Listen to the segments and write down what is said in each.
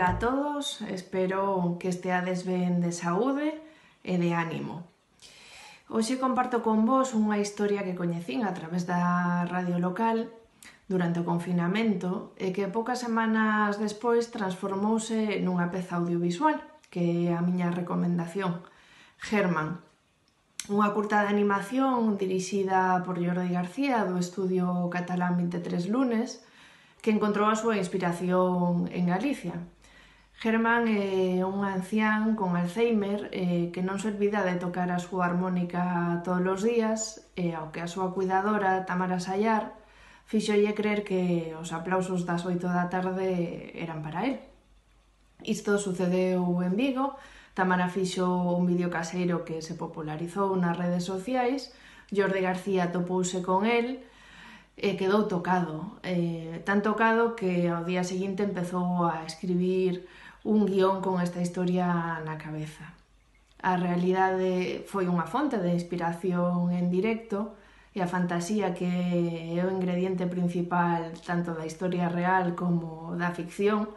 Ola a todos, espero que esteades ben de saúde e de ánimo. Hoxe comparto con vos unha historia que coñecín a través da radio local durante o confinamento e que poucas semanas despois transformouse nunha peza audiovisual, que é a miña recomendación, Germán. Unha curta de animación dirixida por Jordi García do estudio catalán 23 lunes, que encontrou a súa inspiración en Galicia. Germán é un ancián con Alzheimer que non se olvida de tocar a súa armónica todos os días e ao que a súa cuidadora, Tamara Sayar, fíxolle crer que os aplausos das 8 da tarde eran para él. Isto sucedeu en Vigo. Tamara fixo un vídeo caseiro que se popularizou nas redes sociais. Jordi García topouse con el e quedou tocado, tan tocado que ao día seguinte empezou a escribir un guión con esta historia na cabeza. A realidade foi unha fonte de inspiración en directo e a fantasía, que é o ingrediente principal tanto da historia real como da ficción,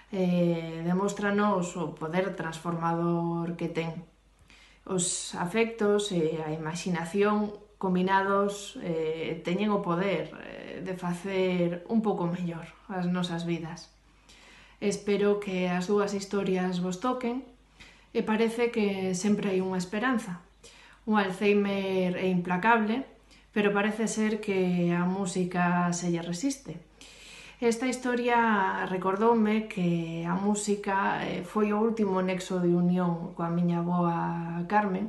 demóstranos o poder transformador que ten. Os afectos e a imaginación combinados teñen o poder de facer un pouco mellor as nosas vidas. Espero que as dúas historias vos toquen e parece que sempre hai unha esperanza. O Alzheimer é implacable, pero parece ser que a música se lle resiste. Esta historia recordoume que a música foi o último nexo de unión coa miña avoa Carmen,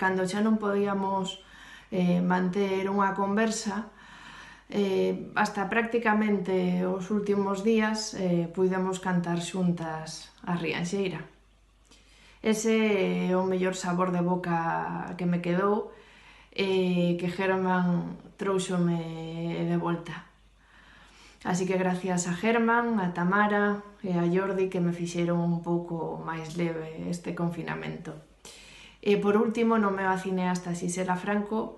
cando xa non podíamos manter unha conversa, hasta prácticamente os últimos días puidemos cantar xuntas a Rianxeira. Ese é o mellor sabor de boca que me quedou e que Germán trouxome de volta. Así que gracias a Germán, a Tamara e a Jordi, que me fixeron un pouco máis leve este confinamento. E por último, non me vaciné hasta Xisela Franco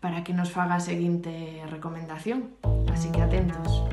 para que nos faga a seguinte recomendación. Así que atentos.